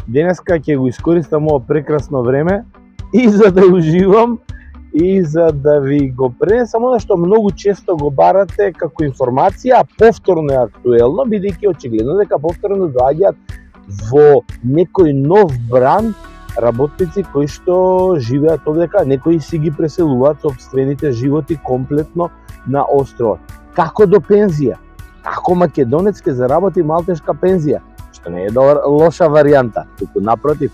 Денеска ќе го искористам ова прекрасно време и за да уживам и за да ви го пренесам она што многу често го барате како информација, а повторно е актуелно, бидејќи очигледно дека повторно доаѓаат во некој нов бранд работници кои што живеат овдека, некои си ги преселуваат сопствените животи комплетно на островот. Како до пензија? Како македонец ќе заработи малтешка пензија? Што не е лоша варијанта, туку напротив,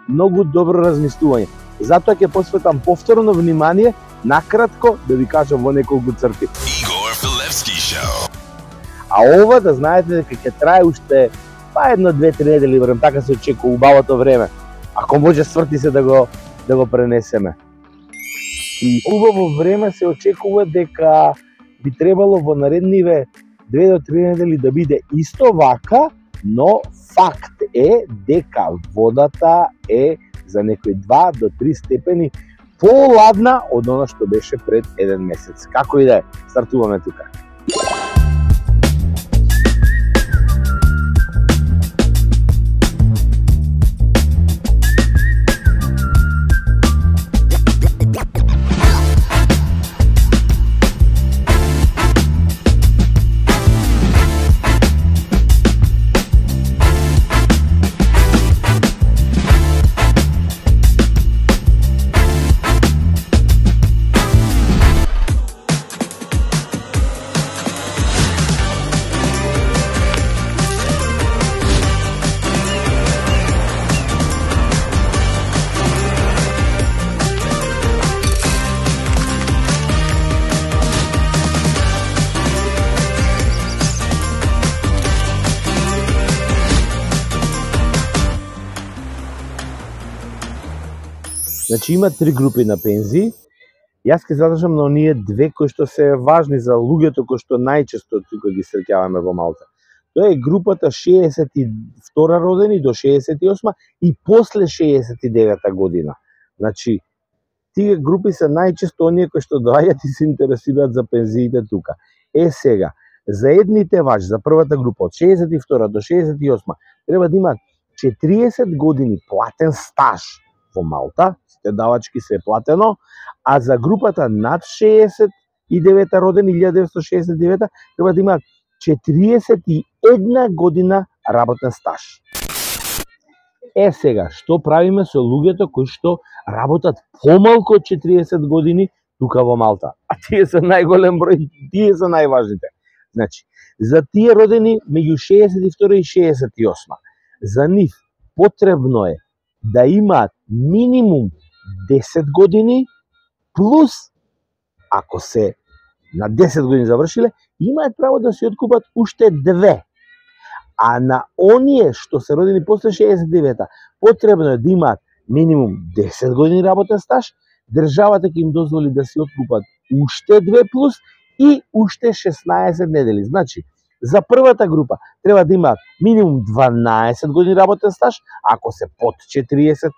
многу добро размислување. Затоа ќе посветам повторно внимание, накратко да ви кажам во неколку црти. Игор Филевски шоу. А ова да знаете дека ќе трае уште едно, две, три недели, верам така се очекува убавото време. Ако може сврти се да го пренесеме. И убаво време се очекува дека би требало во наредниве 2 до 3 недели да биде исто вака, но факт е дека водата е за некои 2 до 3 степени поладна од она што беше пред 1 месец. Како и да е, стартуваме тука. Значи има 3 групи на пензии. Јас ќе задржам на оние две кои што се важни за луѓето кои што најчесто тука ги среќаваме во Малта. Тоа е групата 62 родени до 68 и после 69 година. Значи, тие групи се најчесто оние кои што доаѓаат и се интересираат за пензиите тука. Сега, за едните важи, за првата група од 62 до 68 треба да имаат 40 години платен стаж во Малта, сите давачки се платено, а за групата над 69 родени 1969 треба да имаат 41 година работен стаж. Сега, што правиме со луѓето кои што работат помалку од 40 години тука во Малта? А тие се најголем број, тие се најважните. Значи, за тие родени меѓу 62 и 68, за нив потребно е да имаат минимум 10 години плюс, ако се на 10 години завршиле, имаат право да се откупат уште 2. А на оние што се родени после 69-та, потребно е да имаат минимум 10 години работен стаж, државата ќе им дозволи да се откупат уште 2 плюс и уште 16 недели. Значи, за првата група треба да имаат минимум 12 години работен стаж, ако се под 40,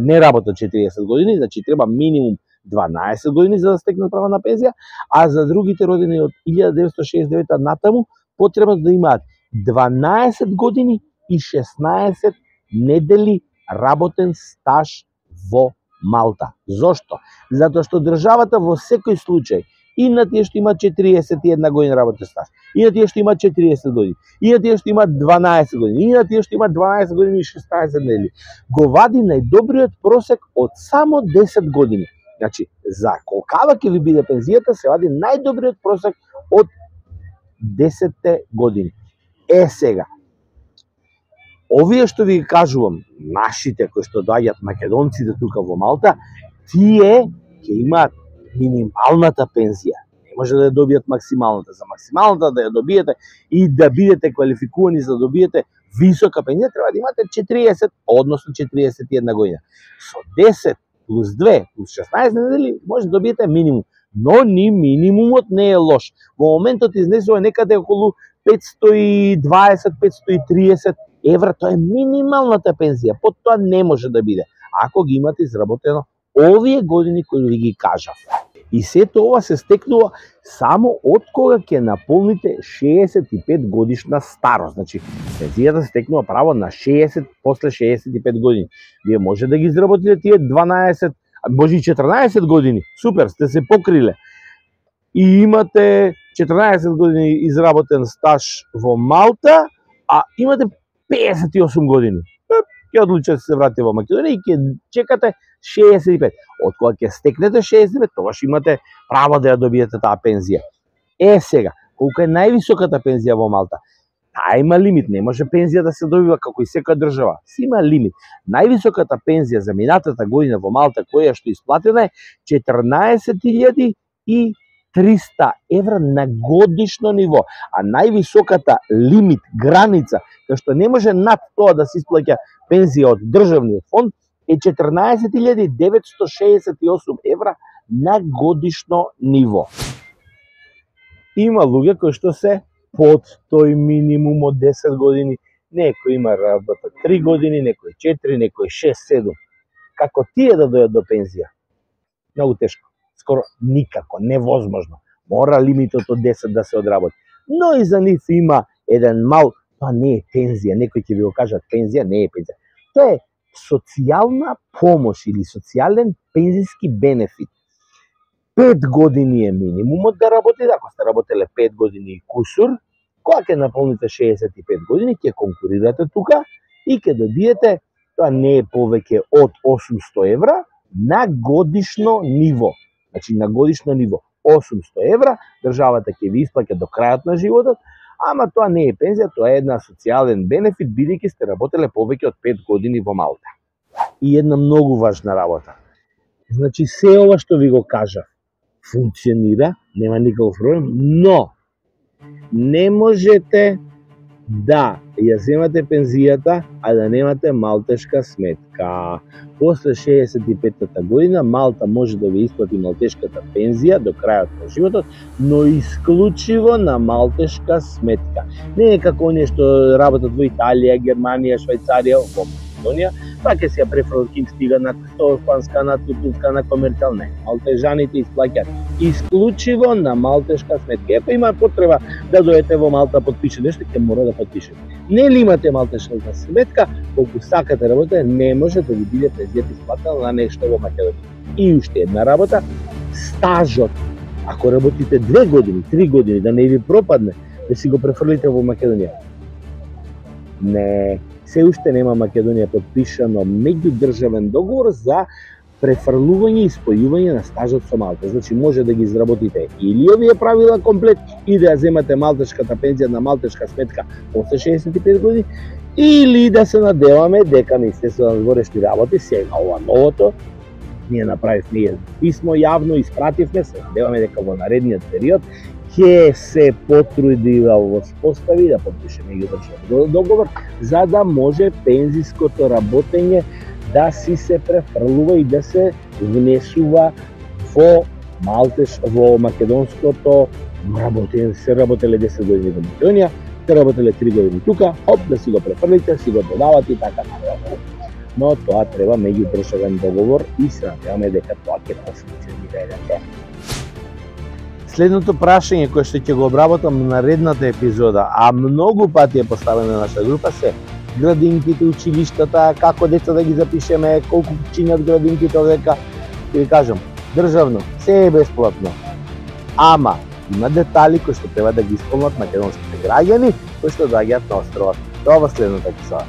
не работат 40 години, значи треба минимум 12 години за да стекнат право на пензија, а за другите родени од 1969 натаму потребно да имаат 12 години и 16 недели работен стаж во Малта. Зошто? Затоа што државата во секој случај и на тие што имаат 41 година работен стаж, и на тие што имаат 40 години, и на тие што имаат 12 години, и на тие што имаат 12 години и 16 недели, го вади најдобриот просек од само 10 години. Значи, за колкава ќе ви биде пензијата, се вади најдобриот просек од 10 години. Сега, овие што ви кажувам, нашите кои што доаѓаат македонците тука во Малта, тие ќе имаат минималната пензија. Не може да ја добијат максималната. За максималната да ја добиете и да бидете квалификувани за да добиете висока пензија, треба да имате 40, односно 41 година. Со 10 плюс 2 плюс 16 недели може да добиете минимум. Но ни минимумот не е лош. Во моментот изнесува некаде околу 520-530 евра, тоа е минималната пензија. Под тоа не може да биде, ако ги имате изработено овие години кои ви ги кажав. И сето ова се стекнува само од кога ќе наполните 65 годишна старост. Значи, пензијата се стекнува право на 60 после 65 години. Вие може да ги изработите тие 12, може и 14 години. Супер, сте се покриле. И имате 14 години изработен стаж во Малта, а имате 58 години. Ќе одлучите да се вратите во Македонија и ќе чекате 65. Од кога ќе стекнете 65, тогаш имате право да ја добиете таа пензија. Сега, колку е највисоката пензија во Малта? Таа има лимит, не може пензија да се добива како и секоја држава. Си има лимит. Највисоката пензија за минатата година во Малта која што исплатена е 14.300 евра на годишно ниво, а највисоката лимит, граница, кај што не може над тоа да се исплаќа пензија од државниот фонд, е 14.968 евра на годишно ниво. Има луѓе кои што се под тој минимум од 10 години, некој има работа 3 години, некој 4, некој 6-7. Како тие да дојдат до пензија? Многу тешко. Скоро никако, невозможно. Мора лимитот од 10 да се одработи. Но и за нив има еден мал, тоа не е пензија, некој ќе ви го кажат пензија, не е пензија. Тоа е социјална помош или социјален пензиски бенефит. 5 години е минимумот да работите, ако сте работеле 5 години и кусур, кога ќе наполните 65 години, ќе конкурирате тука и ќе добиете, тоа не е повеќе од 800 евра на годишно ниво. Значи на годишно ниво 800 евра, државата ќе ви исплаќа до крајот на животот, ама тоа не е пензија, тоа е една социјален бенефит, бидејќи сте работеле повеќе од 5 години во Малта. И една многу важна работа. Значи се ова што ви го кажав, функционира, нема никаков проблем, но не можете да ја земате пензијата, а да немате малтешка сметка. После 65-та година Малта може да ви исплати малтешката пензија до крајот на животот, но исклучиво на малтешка сметка. Не е како оние што работат во Италија, Германија, Швајцарија, во Македонија, па ќе се ја префрлат ким стига на Столпанска, на Тутунска, на Комерцијал, не. Малтежаните исплаќаат исклучиво на малтешка сметка. Епа има потреба да дојдете во Малта, подпише нешто, ќе мора да подпишете. Не ли имате малтешка сметка, колку сакате работа, не може да ви биде пензијата исплатена на нешто во Македонија. И уште една работа, стажот. Ако работите 2 години, 3 години, да не ви пропадне, да си го префрлите во Македонија. Не, се уште нема Македонија подпишано меѓудржавен договор за префрлување и спојување на стажот со Малта. Значи може да ги изработите или овие правила комплет и да ја земате малтешката пензија на малтешка сметка после 65 години, или да се надеваме дека Министерството на зборешни работи, сега ова новото, ние направивме писмо јавно, испративме, се надеваме дека во наредниот период ќе се потруди да воспостави, да подпише меѓудржавен договор, за да може пензиското работење да си се префрлува и да се внесува во во македонското работење. Се работеле 10 години во Македонија, се работеле 3 години тука, оп, да си го префрлите, си го додавате и така натаму. Но тоа треба меѓудржавен договор и се надеваме дека тоа ќе функционира еден ден. Следното прашање кое што ќе го обработам на наредната епизода, а многу пати е поставено на нашата група, се градинките, училиштата, како деца да ги запишеме, колку чинат градинките овдека. Ќе ви кажам, државно, се е бесплатно. Ама има детали кои што треба да ги исполнат македонските граѓани кои што доаѓаат на островот. Тоа во следната епизода.